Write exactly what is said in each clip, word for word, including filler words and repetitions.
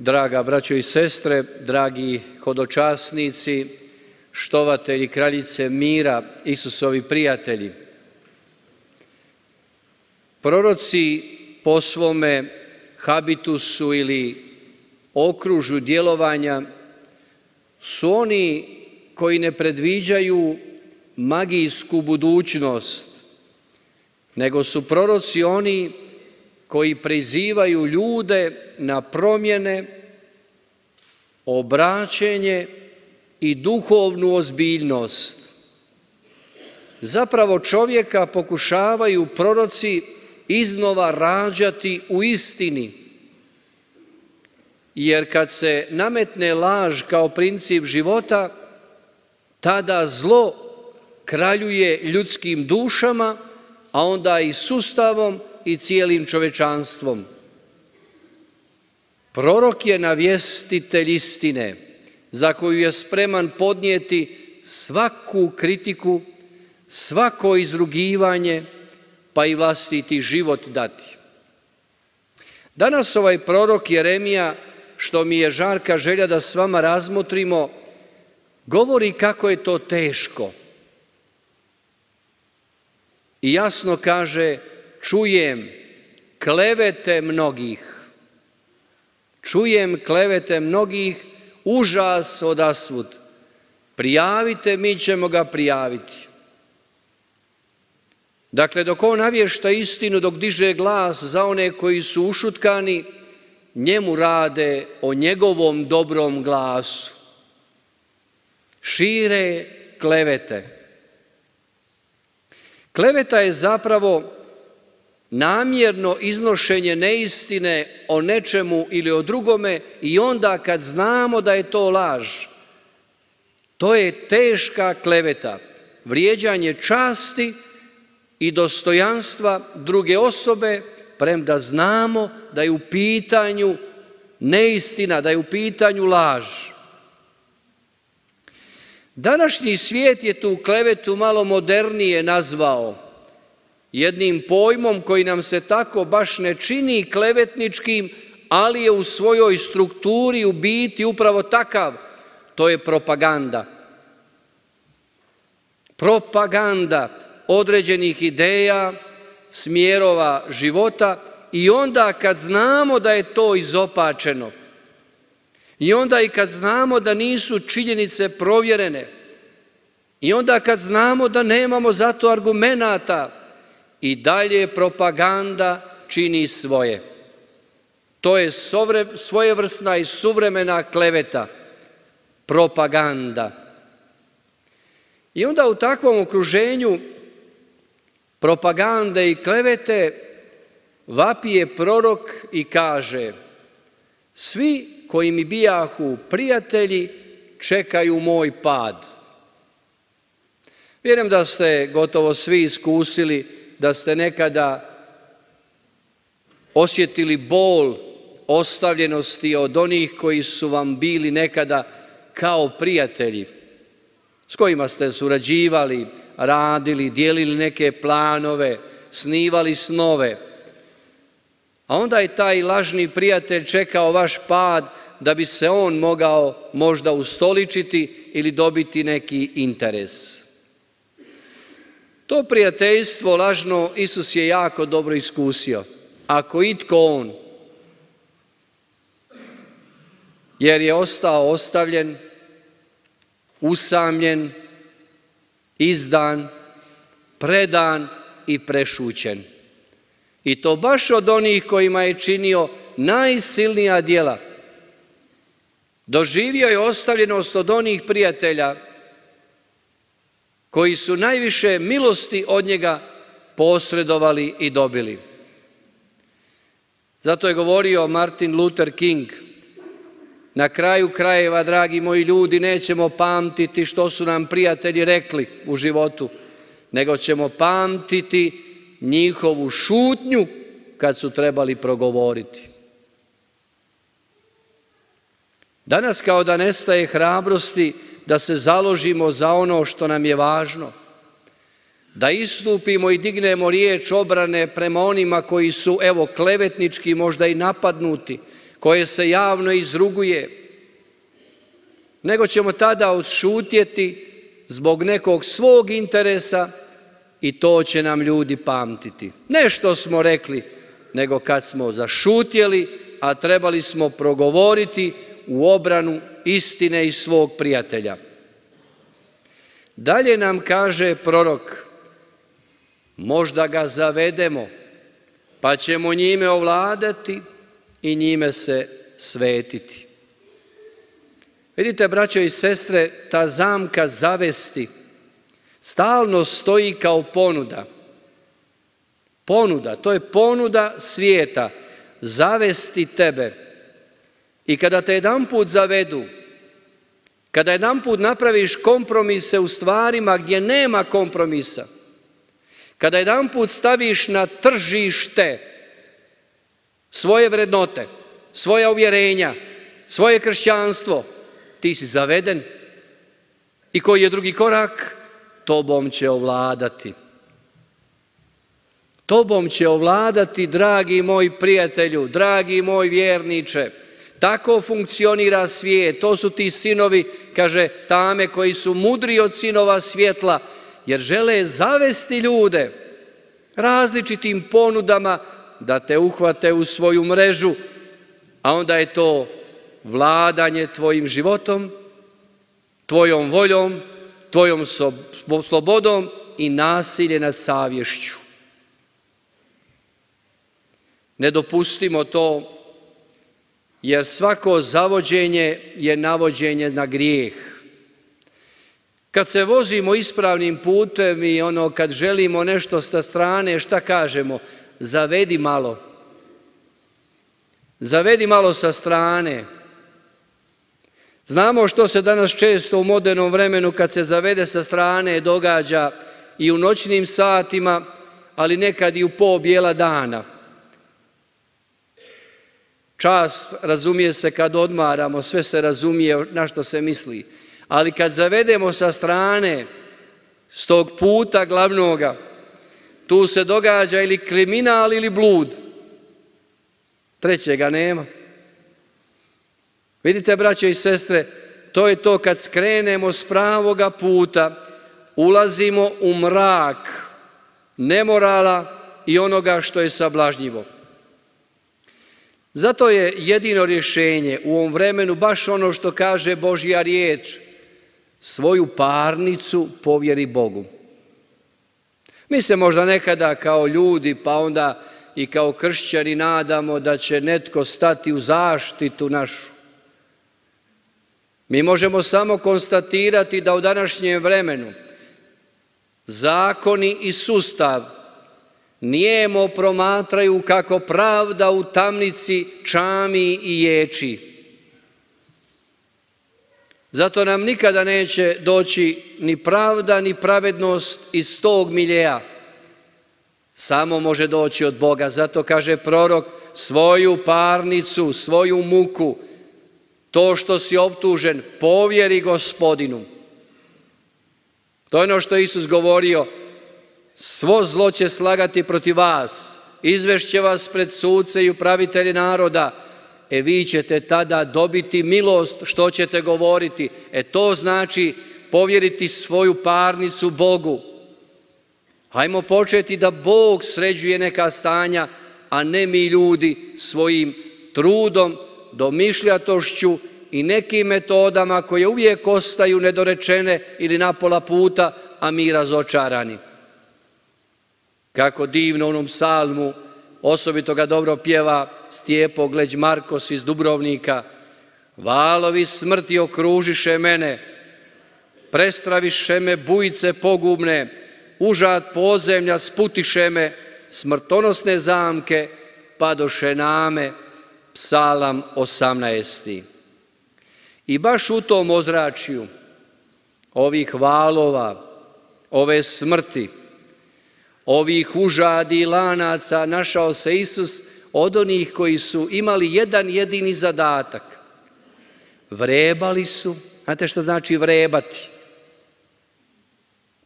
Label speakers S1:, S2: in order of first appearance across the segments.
S1: Draga braćo i sestre, dragi hodočasnici, štovatelji kraljice mira, Isusovi prijatelji. Proroci po svome habitusu ili okružju djelovanja su oni koji ne predviđaju magijsku budućnost, nego su proroci oni koji prizivaju ljude na promjene, obraćenje i duhovnu ozbiljnost. Zapravo čovjeka pokušavaju proroci iznova rađati u istini, jer kad se nametne laž kao princip života, tada zlo kraljuje ljudskim dušama, a onda i sustavom i cijelim čovečanstvom. Prorok je navjestitelj istine, za koju je spreman podnijeti svaku kritiku, svako izrugivanje, pa i vlastiti život dati. Danas ovaj prorok Jeremija, što mi je žarka želja da s vama razmotrimo, govori kako je to teško. I jasno kaže: čujem klevete mnogih, čujem klevete mnogih, užas odasvud. Prijavite, mi ćemo ga prijaviti. Dakle, dok on navješta istinu, dok diže glas za one koji su ušutkani, njemu rade o njegovom dobrom glasu. Šire klevete. Kleveta je zapravo namjerno iznošenje neistine o nečemu ili o drugome i onda kad znamo da je to laž. To je teška kleveta, vrijeđanje časti i dostojanstva druge osobe, premda znamo da je u pitanju neistina, da je u pitanju laž. Današnji svijet je tu klevetu malo modernije nazvao jednim pojmom koji nam se tako baš ne čini klevetničkim, ali je u svojoj strukturi u biti upravo takav. To je propaganda. Propaganda određenih ideja, smjerova života i onda kad znamo da je to izopačeno i onda i kad znamo da nisu činjenice provjerene i onda kad znamo da nemamo za to argumenata, i dalje propaganda čini svoje. To je svojevrsna i suvremena kleveta, propaganda. I onda u takvom okruženju propagande i klevete vapije prorok i kaže: svi koji mi bijahu prijatelji čekaju moj pad. Vjerujem da ste gotovo svi iskusili da ste nekada osjetili bol ostavljenosti od onih koji su vam bili nekada kao prijatelji, s kojima ste surađivali, radili, dijelili neke planove, snivali snove. A onda je taj lažni prijatelj čekao vaš pad da bi se on mogao možda ustoličiti ili dobiti neki interes. To prijateljstvo lažno Isus je jako dobro iskusio, ako itko on, jer je ostao ostavljen, usamljen, izdan, predan i prešućen. I to baš od onih kojima je činio najsilnija djela. Doživio je ostavljenost od onih prijatelja koji su najviše milosti od njega posredovali i dobili. Zato je govorio Martin Luther King: na kraju krajeva, dragi moji ljudi, nećemo pamtiti što su nam prijatelji rekli u životu, nego ćemo pamtiti njihovu šutnju kad su trebali progovoriti. Danas kao da nestaje hrabrosti da se založimo za ono što nam je važno, da istupimo i dignemo riječ obrane prema onima koji su, evo, klevetnički možda i napadnuti, koje se javno izruguje, nego ćemo tada odšutjeti zbog nekog svog interesa i to će nam ljudi pamtiti. Ne što smo rekli, nego kad smo zašutjeli, a trebali smo progovoriti u obranu istine i svog prijatelja. Dalje nam kaže prorok, možda ga zavedemo, pa ćemo njime ovladati i njime se svetiti. Vidite, braćo i sestre, ta zamka zavesti stalno stoji kao ponuda. Ponuda, to je ponuda svijeta, zavesti tebe. I kada te jedanput zavedu, kada jedanput napraviš kompromise u stvarima gdje nema kompromisa, kada jedanput staviš na tržište svoje vrednote, svoja uvjerenja, svoje kršćanstvo, ti si zaveden. I koji je drugi korak? Tobom će ovladati. Tobom će ovladati, dragi moj prijatelju, dragi moj vjerniče. Tako funkcionira svijet. To su ti sinovi, kaže tame, koji su mudri od sinova svjetla, jer žele zavesti ljude različitim ponudama da te uhvate u svoju mrežu, a onda je to vladanje tvojim životom, tvojom voljom, tvojom slobodom i nasilje nad savješću. Ne dopustimo to, jer svako zavođenje je navođenje na grijeh. Kad se vozimo ispravnim putem i ono kad želimo nešto sa strane, šta kažemo? Zavedi malo. Zavedi malo sa strane. Znamo što se danas često u modernom vremenu kad se zavede sa strane događa i u noćnim satima, ali nekad i u po bijela dana. Čast razumije se kad odmaramo, sve se razumije na što se misli. Ali kad zavedemo sa strane, s tog puta glavnoga, tu se događa ili kriminal ili blud. Trećega nema. Vidite, braćo i sestre, to je to kad skrenemo s pravoga puta, ulazimo u mrak nemorala i onoga što je sablažnjivo. Zato je jedino rješenje u ovom vremenu baš ono što kaže Božja riječ, svoju parnicu povjeri Bogu. Mi se možda nekada kao ljudi, pa onda i kao kršćani nadamo da će netko stati u zaštitu našu. Mi možemo samo konstatirati da u današnjem vremenu zakoni i sustav nijemo promatraju kako pravda u tamnici čami i ječi. Zato nam nikada neće doći ni pravda ni pravednost iz tog miljeja. Samo može doći od Boga. Zato kaže prorok, svoju parnicu, svoju muku, to što si optužen, povjeri Gospodinu. To je ono što je Isus govorio, svo zlo će slagati protiv vas, izvešće vas pred suce i upravitelje naroda, e vi ćete tada dobiti milost što ćete govoriti. E to znači povjeriti svoju parnicu Bogu. Hajmo početi da Bog sređuje neka stanja, a ne mi ljudi svojim trudom, domišljatošću i nekim metodama koje uvijek ostaju nedorečene ili na pola puta, a mi razočarani. Kako divno u onom psalmu, osobito ga dobro pjeva Stjepo Gleć Markos iz Dubrovnika. Valovi smrti okružiše mene, prestraviše me bujice pogubne, užad podzemlja sputiše me, smrtonosne zamke padoše name. Psalam osamnaesti. I baš u tom ozračju ovih valova, ove smrti, ovih užadi i lanaca našao se Isus od onih koji su imali jedan jedini zadatak. Vrebali su, znate što znači vrebati?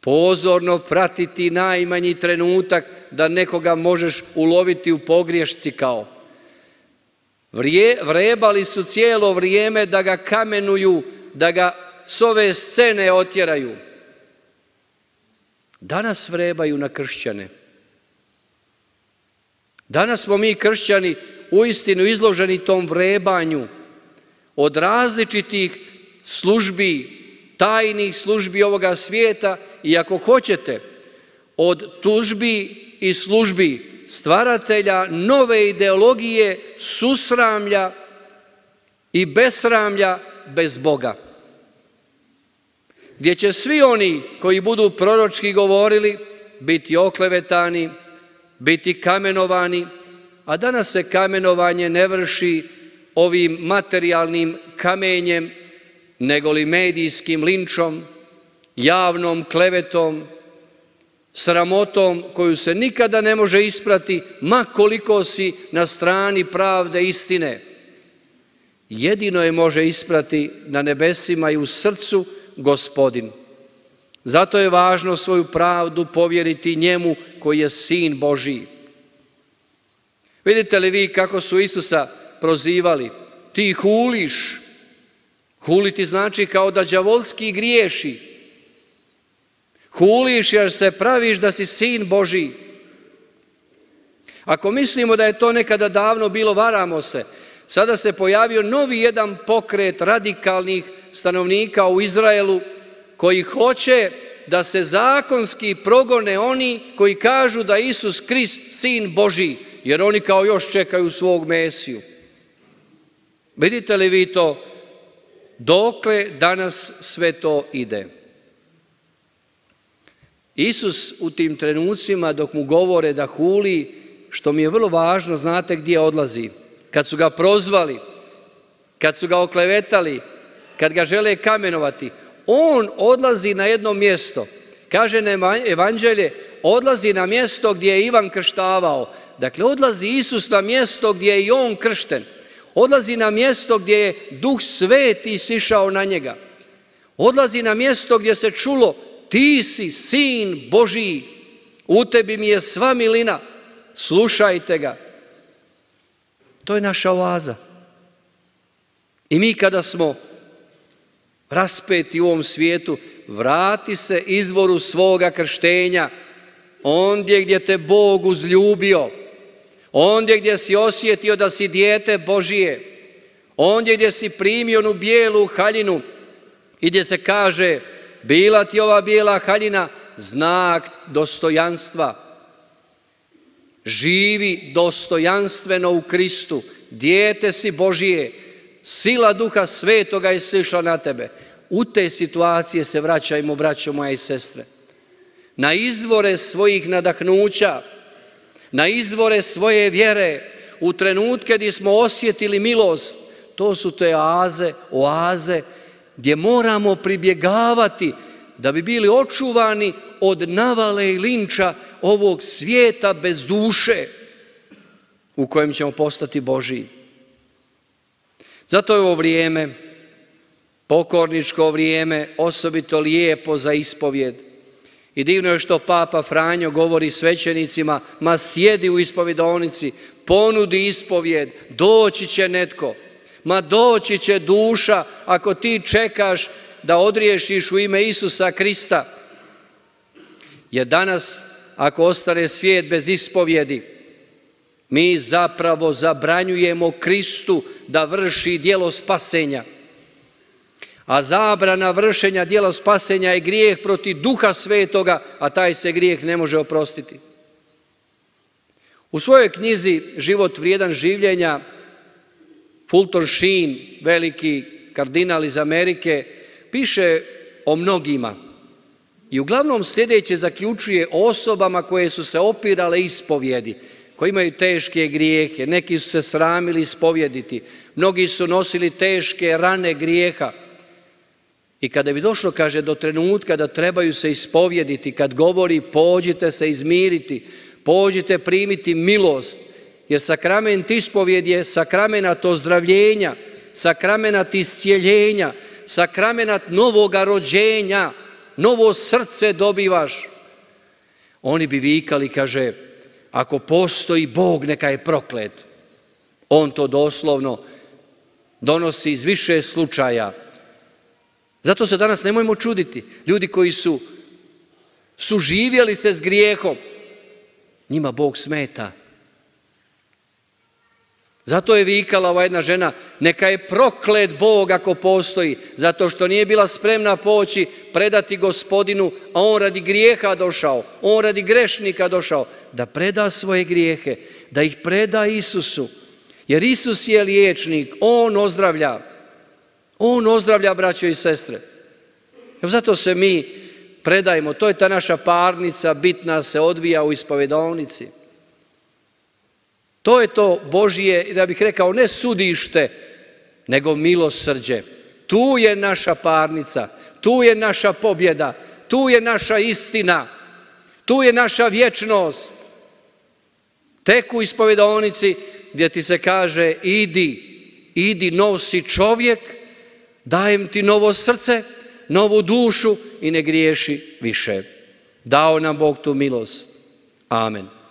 S1: Pozorno pratiti najmanji trenutak da nekoga možeš uloviti u pogriješci kao. Vrije, vrebali su cijelo vrijeme da ga kamenuju, da ga s ove scene otjeraju. Danas vrebaju na kršćane. Danas smo mi kršćani uistinu izloženi tom vrebanju od različitih službi, tajnih službi ovoga svijeta i ako hoćete, od tužbi i službi stvaratelja nove ideologije susramlja i besramlja bez Boga. Gdje će svi oni koji budu proročki govorili biti oklevetani, biti kamenovani, a danas se kamenovanje ne vrši ovim materijalnim kamenjem, nego li medijskim linčom, javnom klevetom, sramotom koju se nikada ne može isprati, ma koliko si na strani pravde istine. Jedino je može isprati na nebesima i u srcu Gospodin. Zato je važno svoju pravdu povjeriti njemu koji je Sin Božiji. Vidite li vi kako su Isusa prozivali? Ti huliš. Huliti znači kao da đavolski griješi. Huliš jer se praviš da si Sin Božiji. Ako mislimo da je to nekada davno bilo, varamo se. Sada se pojavio novi jedan pokret radikalnih stanovnika u Izraelu koji hoće da se zakonski progone oni koji kažu da Isus Krist Sin Božiji, jer oni kao još čekaju svog Mesiju. Vidite li vi to? Dokle danas sve to ide? Isus u tim trenucima dok mu govore da huli, što mi je vrlo važno, znate gdje odlazi? Kad su ga prozvali, kad su ga oklevetali, kad ga žele kamenovati, on odlazi na jedno mjesto. Kaže evanđelje, odlazi na mjesto gdje je Ivan krštavao. Dakle, odlazi Isus na mjesto gdje je i on kršten. Odlazi na mjesto gdje je Duh Sveti sišao na njega. Odlazi na mjesto gdje se čulo, ti si Sin Božiji, u tebi mi je sva milina, slušajte ga. To je naša oaza. I mi kada smo raspeti u ovom svijetu, vrati se izvoru svoga krštenja, ondje gdje te Bog uzljubio, ondje gdje si osjetio da si dijete Božije, ondje gdje si primio onu bijelu haljinu i gdje se kaže, bila ti ova bijela haljina znak dostojanstva. Živi dostojanstveno u Kristu, dijete si Božije, sila Duha Svetoga je sišla na tebe. U te situacije se vraćajmo, braćo moja i sestre. Na izvore svojih nadahnuća, na izvore svoje vjere, u trenutke gdje smo osjetili milost, to su te oaze, oaze gdje moramo pribjegavati da bi bili očuvani od navale i linča ovog svijeta bez duše u kojem ćemo postati Božiji. Zato je ovo vrijeme, pokorničko vrijeme, osobito lijepo za ispovjed. I divno je što Papa Franjo govori svećenicima, ma sjedi u ispovjedonici, ponudi ispovjed, doći će netko. Ma doći će duša ako ti čekaš da odriješiš u ime Isusa Krista. Jer danas, ako ostane svijet bez ispovjedi, mi zapravo zabranjujemo Kristu da vrši djelo spasenja. A zabrana vršenja djela spasenja je grijeh protiv Duha Svetoga, a taj se grijeh ne može oprostiti. U svojoj knjizi Život vrijedan življenja Fulton Sheen, veliki kardinal iz Amerike, piše o mnogima. I uglavnom sljedeće zaključuje o osobama koje su se opirale ispovjedi, koji imaju teške grijehe. Neki su se sramili ispovjediti, mnogi su nosili teške rane grijeha. I kada bi došlo, kaže, do trenutka da trebaju se ispovjediti, kad govori pođite se izmiriti, pođite primiti milost, jer sakrament ispovjed je sakramenat ozdravljenja, sakramenat iscijeljenja, sakramenat novoga rođenja, novo srce dobivaš. Oni bi vikali, kaže, ako postoji Bog, neka je proklet. On to doslovno donosi iz više slučaja. Zato se danas nemojmo čuditi. Ljudi koji su suživjeli se s grijehom, njima Bog smeta. Zato je vikala ova jedna žena, neka je proklet Bog ako postoji, zato što nije bila spremna poći, predati Gospodinu, a on radi grijeha došao, on radi grešnika došao, da preda svoje grijehe, da ih preda Isusu. Jer Isus je liječnik, on ozdravlja, on ozdravlja, braćo i sestre. Zato se mi predajemo, to je ta naša parnica, bitna se odvija u ispovedovnici. To je to Božje, ja bih rekao, ne sudište, nego milosrđe. Tu je naša parnica, tu je naša pobjeda, tu je naša istina, tu je naša vječnost. Tek u ispovedovnici gdje ti se kaže idi, idi, nov si čovjek, dajem ti novo srce, novu dušu i ne griješi više. Dao nam Bog tu milost. Amen.